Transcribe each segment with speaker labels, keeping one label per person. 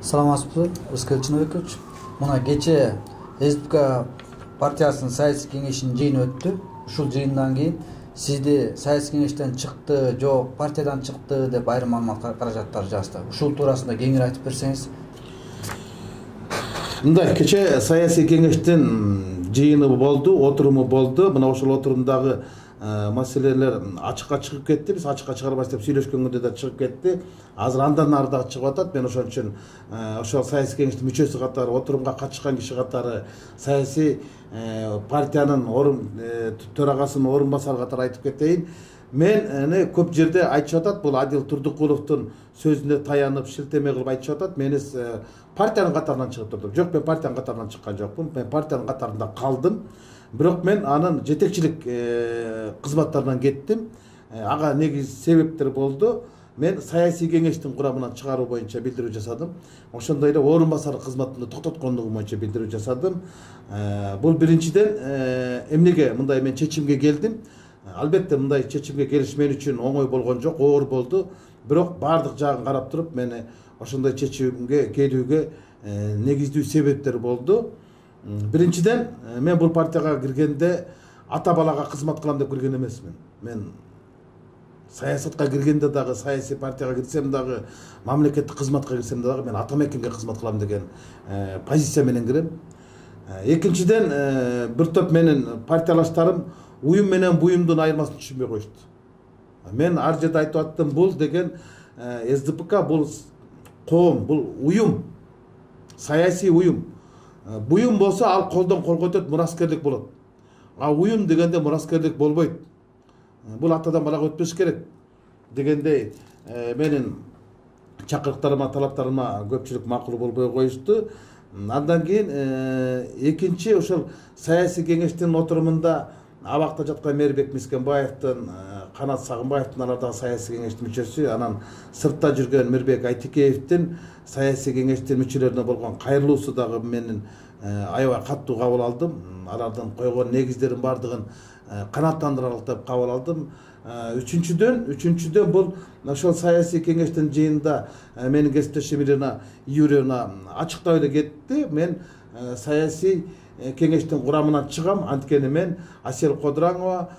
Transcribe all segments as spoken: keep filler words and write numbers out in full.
Speaker 1: Саламатсызбы, Рыскел Чыныбекович. Мына кече СДПК партиясынын саясий кеңешинин жыйыны өттү. Ушул жыйындан кийин сизди саясий кеңештен чыкты, жок партиядан чыкты деп айрым маалымат каражаттар жазды. Ушул туурасында кеңири айтып берсеңиз.
Speaker 2: Мындай кече саясий кеңештин жыйыны болду, отуруму болду. Мына ошол отурумдагы маселелер ачыкка чыгып кетти. Биз ачыкка чыгарбайбыз деп сүйлөшкөн күндө да чыгып кетти. Азыр андан нары дагы чыгып атат. Мен ошон үчүн ошол саясий кеңештин мүчөсү катары, отурумга катышкан киши катары, саясий партиянын орун төрагасынын орун басары катары айтып кетейин. Мен көп жерде айтышып атат, бул Адил Турдукуловдун сөзүнө таянып, шилтеме кылып айтышып атат. Мен партиянын катарынан чыгып турдум. Жок, мен партиянын катарынан чыккан жокмун. Мен партиянын катарында калдым. Бирок мен анын жетекчилик кызматтарынан кеттим. Ага негиз себептер болду. Мен саясий кеңештин курамынан чыгаруу боюнча билдирүү жасадым. Ошондой эле орун басары кызматымды токтоткондугум боюнча билдирүү жасадым. Бул биринчиден эмнеге мындай мен чечимге келдим? Албетте мындай чечимге келиш мен үчүн оңой болгон жок, оор болду. Бирок бардык жагын карап туруп, мени ошондой чечимге келүүгө негиздүү себептер болду. Биринчиден, мен бул партияга киргенде ата балага кызмат кылам деп кирген эмесмин. Мен саясатка киргенде дагы, саясий партияга кирсем дагы, мамлекеттик кызматка кирсем дагы мен ата мекенге кызмат кылам деген позиция менен кирем. Экинчиден, бир топ менин партиялаштарым уюм менен буюмдун айырмасын түшүнбөй коюшту. Мен ар жерде айтып аттым, бул деген СДПК бул коом, бул уюм, саясий уюм. Буюм болсо ал колдон колго өтөт, мураскерлик болот. А уюм дегенде мураскерлик болбойт. Бул атадан балага өтпөш керек дегендей менин чакырыктарыма, талаптарыма көпчүлүк макул болбой коюшту. Андан кийин экинчи ошол саясий кеңештин отурумунда абакта жаткан Мээрбек Мискенбаевдин, Канат Сагынбаевдин, алар дагы саясий кеңештин мүчөсү, анан сыртта жүргөн Мирбек Айтикеевдин саясий кеңештин мүчөлөрүнө болгон кайрылуусу дагы менин аябай катуу кабыл алдым. Алардын койгон негиздерин бардыгын канааттандырарлык деп кабыл алдым. Үчүнчүдөн, үчүнчүдөн бул ошол саясий кеңештин жыйынында менин кесиптешим Ирина Юрьевна ачыктап эле кетти. Мен саясий кеңештин курамынан чыгам, анткени мен Асел Кодураңова,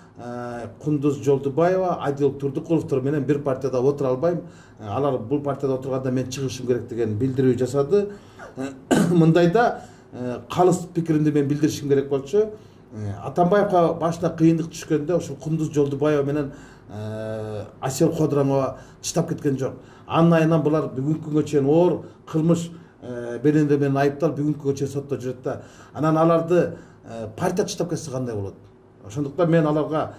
Speaker 2: Кундуз Жолдубаева, Адил Турдукуловдор менен бир партияда отура албайм. Алар бул партияда отурганда мен чыгышым керек деген билдирүү жасады. Мындайда калыс пикиримди мен билдиришим керек болчу. Атамбаевга башына кыйындык түшкөндө ошол Кундуз Жолдубаева менен Асел Кодураңова чыдап кеткен жок. Анын айынан булар бүгүнкү күнгө чейин оор кылмыш бененде менен айыпталып бүгүнкү күнгө чейин сотто жүрөт да. Анан аларды партия чыдап кетсе кандай болот? Ошондуктан мен аларга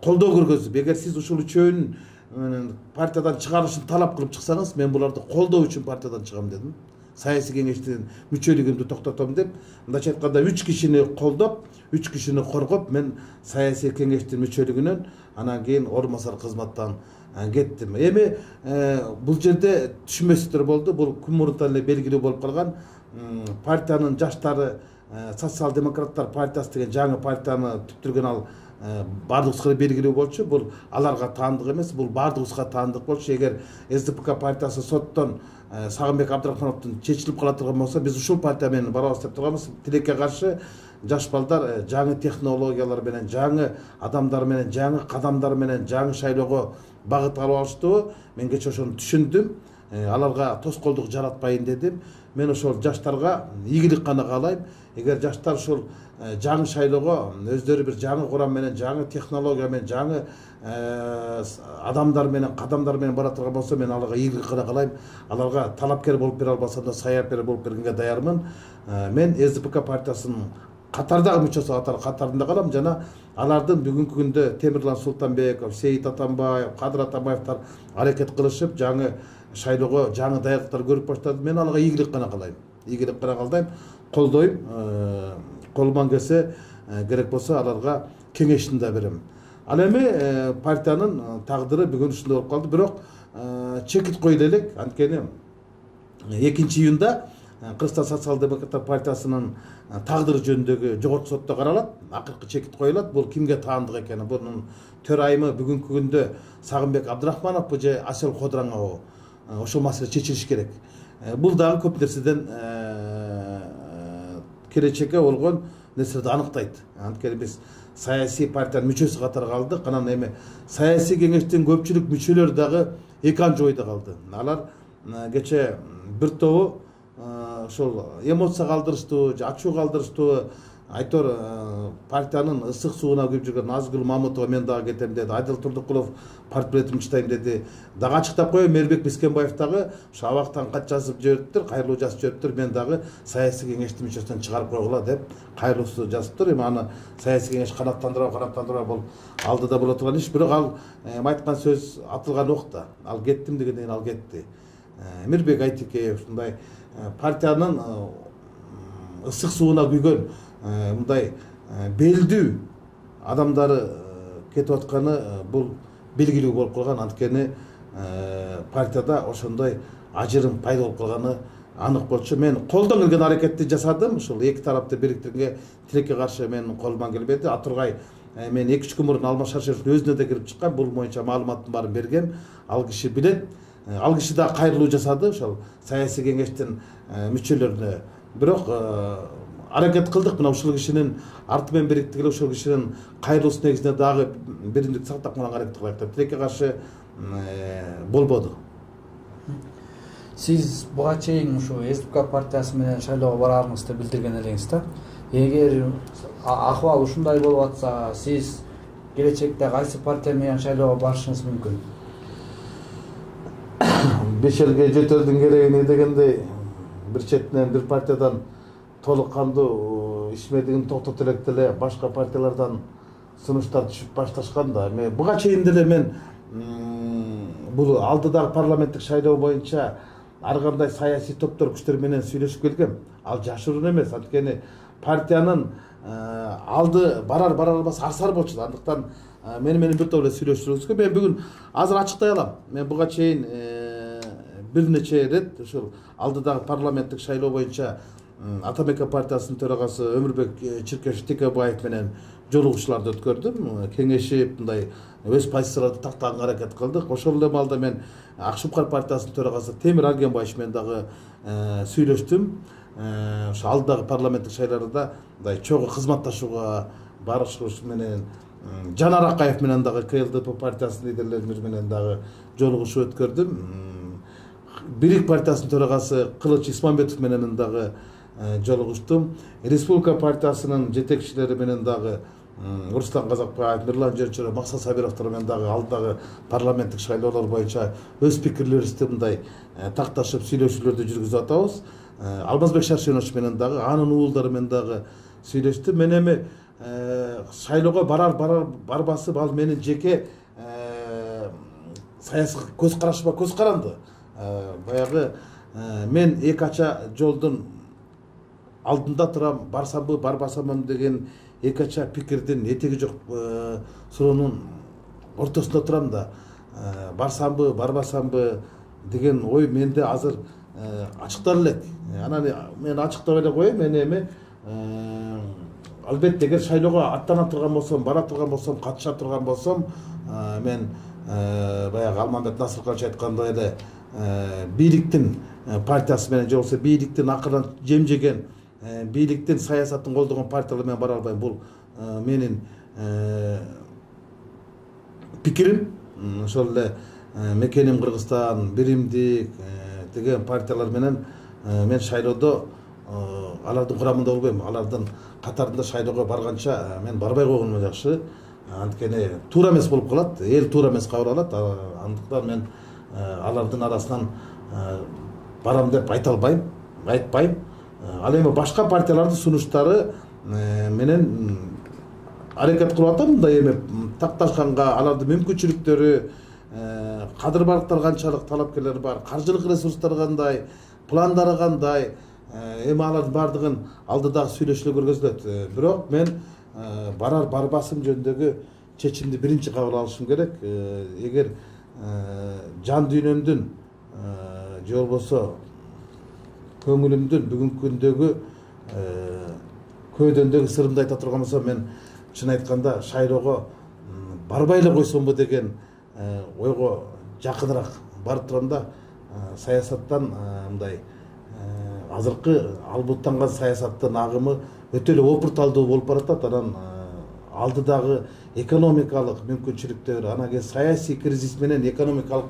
Speaker 2: колдоо көргөзүп, эгер сиз ушул үчөөнүн партиядан чыгарышын талап кылып чыксаңыз, мен буларды колдоо үчүн партиядан чыгам дедим. Саясий кеңештин мүчөлүгүмдү токтотом деп, мындайча айтканда үч кишини колдоп, үч кишини коргоп, мен саясий кеңештин мүчөлүгүнөн анан кийин орун басар кызматтан кеттим. Эми бул жерде түшүнбөстүктөр болду. Бул күн мурунтан эле белгилүү болуп калган. Партиянын жаштары Социал-демократтар партиясы деген жаңы партияны түптүргөн ал бардыгыбызга белгилүү болчу. Бул аларга таандык эмес, бул бардыгыбызга таандык болчу. Эгер СДПК партиясы соттон Сагынбек Абдрахмановдун чечилип кала турган болсо, биз ушул партия менен барабыз деп турганбыз. Тилекке каршы жаш балдар жаңы технологиялар менен, жаңы адамдар менен, жаңы кадамдар менен жаңы шайлоого багыт алып алыштыбы. Мен кече ошону түшүндүм. Аларга тоскоолдук жаратпайын дедим. Мен ошол жаштарга ийгилик гана каалайм. Эгер жаштар ушул жаңы шайлоого өздөрү бир жаңы курам менен, жаңы технология менен, жаңы адамдар менен, кадамдар менен бара турган болсо, мен аларга ийгилик гана каалайм. Аларга талапкер болуп бере албасам да, саяпкер болуп бергенге даярмын. Мен СДПК партиясынын катардагы мүчөсү катарында калам жана алардын бүгүнкү күндө Темирлан Султанбеков, Сейит Атамбаев, Кадыр Атамбаевдер аракет кылышып, жаңы шайлоого жаңы даярдыктар көрүп баштады. Мен аларга ийгилик гана каалайм. Ийгилик гана каалайм, колдойм. Колуман келсе, керек болсо аларга кеңешин да берем. Ал эми партиянын тагдыры бүгүн ушундай болуп калды. Бирок чекит коюла элек, анткени экинчи июнда Кыргызстан социал-демократтар партиясынын тагдыры жөнүндөгү жогорку сотто каралат. Акыркы чекит коюлат. Бул кимге таандык экени, бунун төрайымы бүгүнкү күндө Сагынбек Абдрахмановбу же Асел Кодураңовбу? Ошол маселе чечилиш керек. бул дагы көп нерседен келечекке болгон нерселерди аныктайт. Анткени биз саясий партиянын мүчөсү катары калдык. Анан эми саясий кеңештин көпчүлүк мүчөлөрү дагы эки ан жойдо калды. Алар кече бир тобу ошол эмоция калтырыштуу, ачуу калтырыштуу, айтор партиянын ысык сууна күйүп жүргөн Назгүл Мамутова мен дагы кетем деди, Айдыл Турдукулов партбилетимди чытайм деди. Дагы ачыктап коеюн, Мээрбек Бискенбаев дагы ошо абактан кат жазып жибериптир, кайрылуу жазып жибериптир, мен дагы саясий кеңештин мүчөсүнөн чыгарып койгула деп кайрылуусу жазыптыр. Эми аны саясий кеңеш канаттандырабы, канаттандырбайбы бул алдыда боло турган иш. Бирок ал айткан сөз атылган окта. Ал кеттим дегенден кийин ал кетти. Мирбек Айтекеев ушундай партиянын ысык сууна күйгөн мындай белдүү адамдары кетип атканы бул белгилүү болуп калган. Анткени партияда ошондой ажырым пайда болуп калганы анык болчу. Мен колдон келген аракетти жасадым. Ушул эки тарапты бириктирүүгө тилекке каршы менин колуман келбеди. Атургай мен эки үч күн мурун Алмаз Шаршеновдун өзүнө да кирип чыккан. Бул боюнча маалыматтын баарын бергем. Ал киши билет. Ал киши да кайрылуу жасады ошол саясий кеңештин мүчөлөрүнө. Бирок аракет кылдык мына ушул кишинин арты менен бириктигиле ушул кишинин кайрылуусу негизинде дагы биримдикти сактап калганга аракет кылайык деп тилекке каршы болбоду.
Speaker 1: Сиз буга чейин ушу СДПК партиясы менен шайлоого барарыңызды билдирген элеңиз да. Эгер акыбал ушундай болуп атса, сиз келечекте кайсы партия менен шайлоого барышыңыз мүмкүн?
Speaker 2: Беш элге жети элдин кереги дегендей бир четинен бир партиядан толук кандуу ишмердигин токтото электе эле башка партиялардан сунуштар түшүп башташкан да. Эми буга чейин деле мен бул алдыдагы парламенттик шайлоо боюнча ар кандай саясий топтор күчтөр менен сүйлөшүп келгем. Ал жашыруун эмес, анткени партиянын алды барар барар албас арсар болчу. Андыктан мени менен бир топ эле сүйлөштүрүңүзгө мен бүгүн азыр ачыктай алам. Мен буга чейин бир нече ирет ушул алдыдагы парламенттик шайлоо боюнча Атамекен партиясынын төрагасы Өмүрбек Чиркешев Текебаев менен жолугушууларды өткөрдүм. Кеңешип мындай өз позицияларды тактаганга аракет кылдык. Ошол эле маалда мен Ак Шупкар партиясынын төрагасы Темир Аргенбаевич менен дагы сүйлөштүм. Ошо алдыдагы парламенттик шайлоодо мындай чогуу кызматташууга барышыбыз менен Жанар Акаев менен дагы КЛДП партиясынын лидерлери менен дагы жолугушуу өткөрдүм. Бирик партиясынын төрагасы Кылыч Исмамбетов менен дагы жолугуштум. Республика партиясынын жетекчилери менен дагы Руслан Казакбаев, Мирлан Жерчеров, Максат Сабировдор менен дагы алдагы парламенттик шайлоолор боюнча өз пикирлерибизди мындай такташып сүйлөшүүлөрдү жүргүзүп атабыз. Алмазбек Шаршенович менен дагы анын уулдары менен дагы сүйлөштүм. Мен эми шайлоого барар барар барбасы ал менин жеке саясий көз карашыма көз каранды. Баягы мен эки ача жолдун алдында турам, барсамбы барбасамбы деген эки ача пикирдин этеги жок суроонун ортосунда турам да. Барсамбы барбасамбы деген ой менде азыр ачыктар элек. Анан мен ачыктап эле коеюн, мен эми албетте эгер шайлоого аттана турган болсом, бара турган болсом, катыша турган болсом, мен баягы Алмамбет Насыркулович айткандай эле бийликтин партиясы менен же болбосо бийликтин акырдан жем жеген, бийликтин саясатын колдогон партиялар менен бара албайм. Бул менин пикирим. Ошол эле Мекеним Кыргызстан, Биримдик деген партиялар менен мен шайлоодо алардын курамында болбойм. Алардын катарында шайлоого барганча мен барбай койгонум жакшы. Анткени туура эмес болуп калат, эл туура эмес кабыл алат. Андыктан мен алардын арасынан барам деп айта албайм, айтпайм. Ал эми башка партиялардын сунуштары менен аракет кылып атам. Мындай эми такташканга алардын мүмкүнчүлүктөрү, кадыр барктар канчалык, талапкерлер бар, каржылык ресурстары кандай, пландары кандай, эми алардын баардыгын алдыдагы сүйлөшүүлөр көргөзүлөт. Бирок мен барар барбасым жөнүндөгү чечимди биринчи кабыл алышым керек. Эгер жан дүйнөмдүн же болбосо көңүлүмдүн бүгүнкү күндөгү көйдөндөгү сырымды айта турган болсом, мен чын айтканда шайлоого барбай эле койсомбу деген ойго жакыныраак барып турам да. саясаттан мындай азыркы албуттанган саясаттын агымы өтө эле опурталдуу болуп баратат. Анан алдыдагы экономикалык мүмкүнчүлүктөр, анан кийин саясий кризис менен экономикалык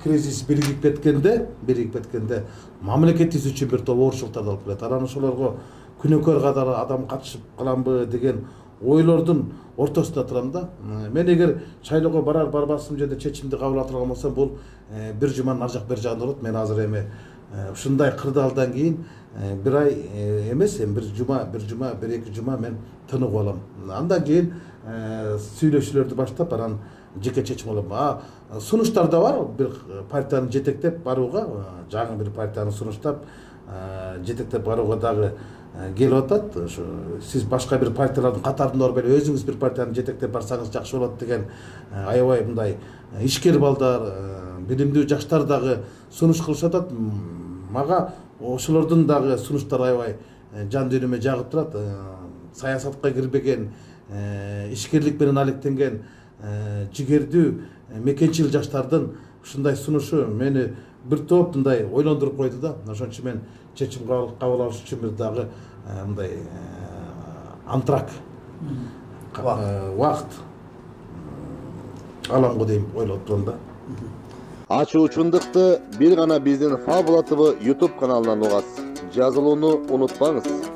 Speaker 2: кризис биригип кеткенде, биригип кеткенде мамлекетибиз үчүн бир топ оорчулуктарды алып келет. Анан ошолорго күнөөкөр катары адам катышып каламбы деген ойлордун ортосунда турам да. Мен эгер шайлоого барар барбасым жерде чечимди кабыл ала турган болсом, бул бир жуманын ар жак бери жагында болот. Мен азыр эми ушундай кырдаалдан кийин бир ай эмес, эми бир жума, бир жума, бир эки жума мен тыныгып алам. Андан кийин сүйлөшүүлөрдү баштап, анан жеке чечим алам. А сунуштар да бар, бир партияны жетектеп барууга, жаңы бир партияны сунуштап жетектеп барууга дагы келип атат. Ошо сиз башка бир партиялардын катарында барбай эле өзүңүз бир партияны жетектеп барсаңыз жакшы болот деген аябай мындай ишкер балдар, билимдүү жаштар дагы сунуш кылышып атат. Мага ошолордун дагы сунуштары аябай жан дүйнөмө жагып турат. Саясатка кирбеген, ишкерлик менен алектенген жигердүү мекенчил жаштардын ушундай сунушу мени бир топ мындай ойлондуруп койду да. Ошон үчүн мен чечим кабыл алыш үчүн бир дагы мындай антрак убакыт аламго дейм ойлоп турам да.
Speaker 3: Ачуучундукты бир гана биздин Фабула тэ вэ YouTube каналынан угасыз. Жазылууну унутпаңыз.